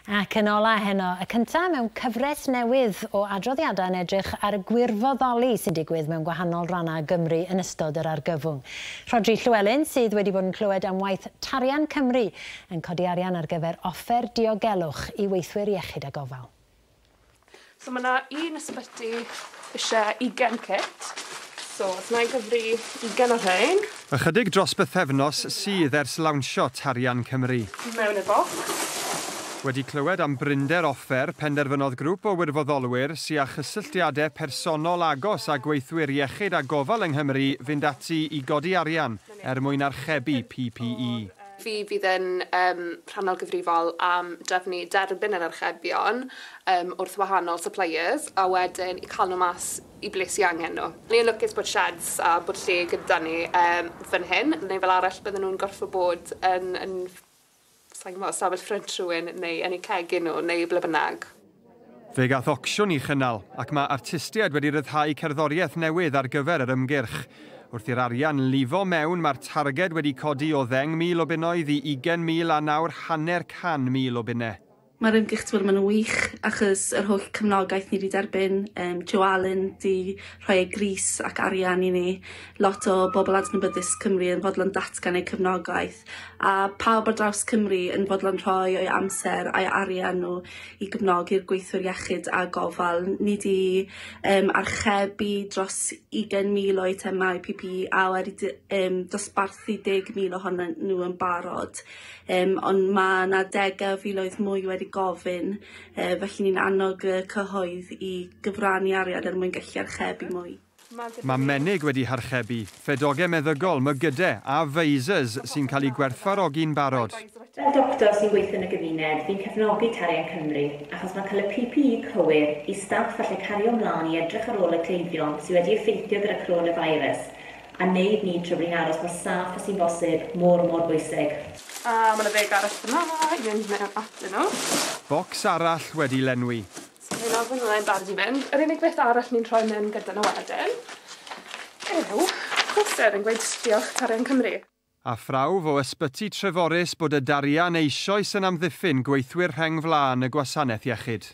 Ac yn ola heno, y cyntaf mewn cyfres newydd o adroddiadau yn edrych ar y gwirfoddoli sy'n digwydd mewn gwahanol rannau Gymru yn ystod yr argyfwng. Rhodri Llywelyn sydd wedi bod yn clywed am waith Tarian Cymru yn codi arian ar gyfer offer diogelwch i weithwyr iechyd a gofal. So mae yna un ysbyty eisiau 20 kit. So, os na i gyfri 20 o'r rhain. Ychydig dros bythefnos sydd ers lawnsio Tarian Cymru. Mewn y bocs. Wedi clywed am brinder offer, penderfynodd grŵp o wirfoddolwyr sydd â chysylltiadau personol agos a gweithwyr iechyd a gofal yng Nghymru fynd ati i godi arian er mwyn archebu PPE. Fi fydd yn rhannol gyfrifol am drefnu derbyn yr archebion wrth wahanol suppliers a wedyn i cael nhw mas i ble sy'n angen nhw. Ni'n lwcus bod sheds a bod lle gyda ni fan hyn, neu fel arall bydden nhw'n gorfod bod yn sa'n gwybod, stafell ffrynt rhywun neu yn eu cegin nhw neu ble bynnag. Fe gath ocsiwn i chynnal ac mae artistiaid wedi rhyddhau cerddoriaeth newydd ar gyfer yr ymgyrch. Wrth i'r arian lifo mewn, mae'r targed wedi codi o 10,000 o bunnoedd i 20,000 a nawr 500,000 o bunnau. Mae'r ymgyrch wedi bod yn wych achos yr holl cefnogaeth ni wedi derbyn. Joe Allen di rhoi ei grys ac arian i ni. Lot o bobl adnabyddus Cymru yn fodlon datgan eu cefnogaeth. A pawb ar draws Cymru yn fodlon rhoi o'i amser a'i arian nhw i gefnogi'r gweithwyr iechyd a gofal. Ni di archebu dros 20,000 o eitemau PPE a wedi dosbarthu 10,000 ohonyn nhw yn barod. Ond mae yna degau o filoedd mwy wedi gofyn, felly ni'n annog y cyhoedd i gyfrannu arian er mwyn gallu archebu mwy. Mae menig wedi harchebu, ffedogau meddygol, mygydau a visors sy'n cael eu gwerthfawrogi'n barod. Fel doctor sy'n gweithio yn y gymuned, fi'n cefnogi Tarian Cymru achos mae'n cael y PPE cywir i staff allu cario ymlaen i edrych ar ôl y cleifion sydd wedi effeithio gyda coronavirus a wneud ni trwy bod ni'n aros mor saff â sy'n bosib, mor bwysig. A mae yna 10 arall fyna, i fynd mewn atyn nhw. Bocs arall wedi lenwi. So fi'n ofyn hwnna'n barod i fynd. Yr unig beth arall ni'n rhoi mewn gyda nhw wedyn yw poster yn gweud diolch Tarian Cymru. A phrawf o ysbyty Treforys bod y darian eisoes yn amddiffyn gweithwyr rheng flaen y gwasanaeth iechyd.